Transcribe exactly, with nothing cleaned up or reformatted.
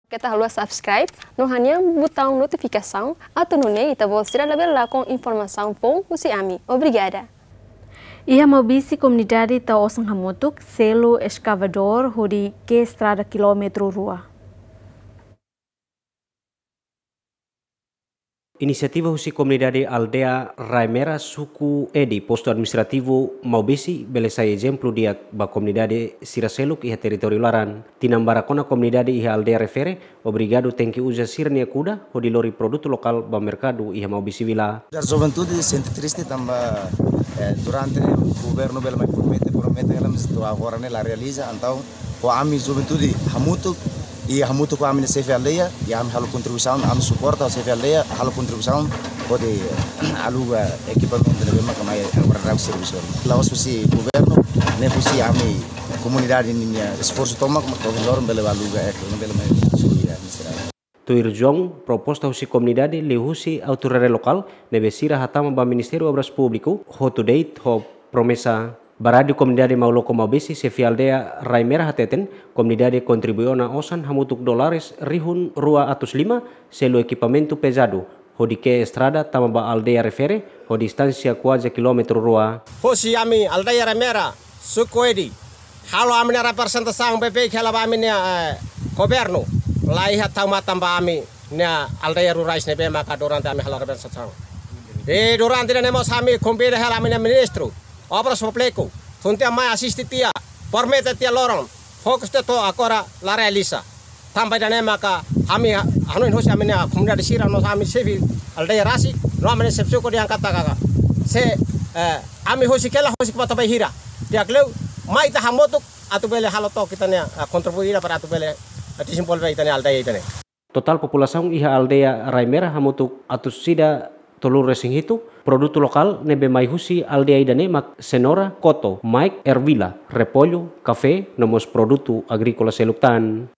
Keta haluha subscribe no hanehan butaun notifikasaun atu nune'e ita-boot sira labele lakon informasaun foun husi ami. Obrigada. Iha Maubisse komunidade tau osan hamutuk selu eskavadór hodi ke'e estrada kilómetru rua. Inisiativa husi komunidade aldeia Rai Mera, suku Edi, postu administrativu Maubisse, bele sai ezemplu di'ak ba komunidade sira seluk iha territóriu laran. Tinan barak ona komunidade iha aldeia refere obrigadu tenke uza sira-nia kuda hodi lori produtu lokál ba merkadu iha Maubisse vila. Dar juventude sente triste tanba, eh, durante ne'e governu bele mai promete, promete, hela, mas to'o agora ne'e la realiza, entaun ho ami juventude hamutuk, i hamutuk ho ami-nia xefe aldeia, i ami halo kontribuisaun, ami suporta xefe aldeia, halo kontribuisaun, hodi aluga ekipamentu ne'ebé maka mai agora dau servisu. La'ós husi governu, ne'e husi ami komunidade ninia esforsu tomak, mak to'o loron bele aluga, eh, bele mai servisu, ya, miserável. Tuir João, proposta husi komunidade liuhusi autoridade lokál ne'ebé sira hatama ba Ministériu Obras Públiku, hotu de'it ho promesa. Ba Rádiu Komunidade Mauloko Maubisse, xefe aldeia Rai Mera hateten, komunidade kontribui ona osan hamutuk dólares rihun rua atus lima, selu ekipamentu pezadu hodi ke'e estrada tama ba aldeia refere, ho distánsia kuaze kilómetru rua. Husi ami aldeia Rai Mera, suku Edi, halo ami-nia reprezentasaun beibeik hela ba ami-nia, eh, governu, la iha tau matan ba ami-nia aldeia rurais ne'ebé maka durante ami halo reprezentasaun. I durante ne'e mós ami konvida hela ami-nia ministru Obras Públiku, tun tiha mai asiste tiha, promete tiha loron, fokus tiha to'o agora la realiza. Tanba ida-ne'e maka ami ha-, hanoin hosi ami-nia komunidade sira no ami xefe aldeia rasik, no ami-nia xefe suku dehan katak, se, eh, ami husik hela, husik ba to'o bainhira. Di'ak liu, mai ita hamutuk atu bele halo took ita-nia, eh, kontribui ida para atu bele, eh, dezenvolve ita-nia aldeia ida-ne'e. Totál populasaun iha aldeia Rai Mera hamutuk atus ida tolunulu-resin-hitu, produtu lokál ne'ebé mai husi aldeia ida-ne'e mak senoura, koto, maik, ervila, repollu, kafé, no mós produtu agríkola seluk tan.